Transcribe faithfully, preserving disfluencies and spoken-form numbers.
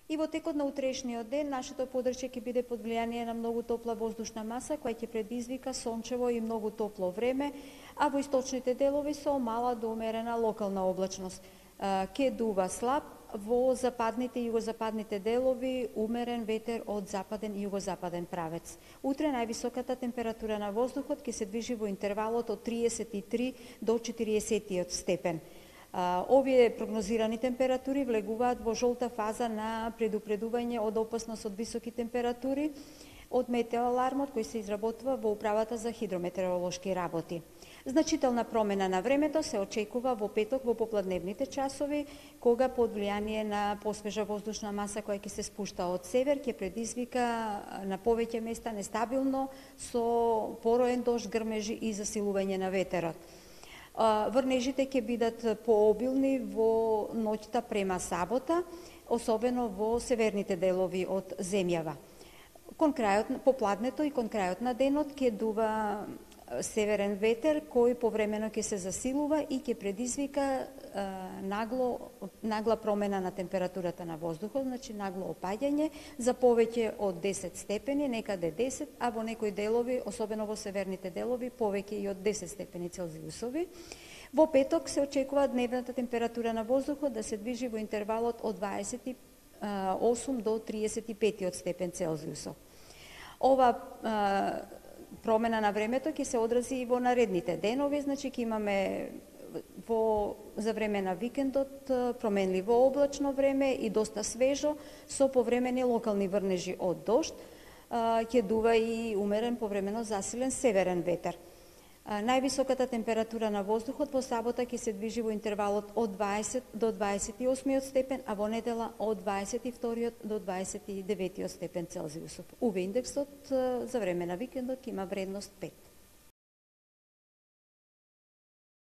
И во текот на утрешниот ден, нашето подрачје ќе биде под влијание на многу топла воздушна маса, која ќе предизвика сончево и многу топло време, а во источните делови со мала до умерена локална облачност. Ќе дува слаб, во западните и југозападните делови умерен ветер од западен и југозападен правец. Утре највисоката температура на воздухот ќе се движи во интервалот од триесет и три до четириесет степен. Овие прогнозирани температури влегуваат во жолта фаза на предупредување од опасност од високи температури од метеоалармот кој се изработува во Управата за хидрометеоролошки работи. Значителна промена на времето се очекува во петок во попладневните часови, кога под влијание на посвежа воздушна маса која ќе се спушта од север, ќе предизвика на повеќе места нестабилно со пороен дожд, грмежи и засилување на ветерот. Врнежите ќе бидат пообилни во ноќта према сабота, особено во северните делови од земјава. Кон крајот, попладнето и кон крајот на денот ќе дува северен ветер кој повремено ќе се засилува и ќе предизвика нагло, нагла промена на температурата на воздухот, значи нагло опаѓање за повеќе од десет степени, некаде десет, а во некои делови, особено во северните делови, повеќе и од десет степени Целзиусови. Во петок се очекува дневната температура на воздухот да се движи во интервалот од дваесет и осум до триесет и пет степен Целзиусов. Ова промена на времето ќе се одрази и во наредните денови, значи ќе имаме во за време на викендот променливо облачно време и доста свежо со повремени локални врнежи од дожд, ќе дува и умерен повремено засилен северен ветер. Највисоката температура на воздухот во сабота ќе се движи во интервалот од дваесет до дваесет и осми степен, а во недела од дваесет и втори до дваесет и девети степен Целзиусов. У ве индексот за време на викендот има вредност пет.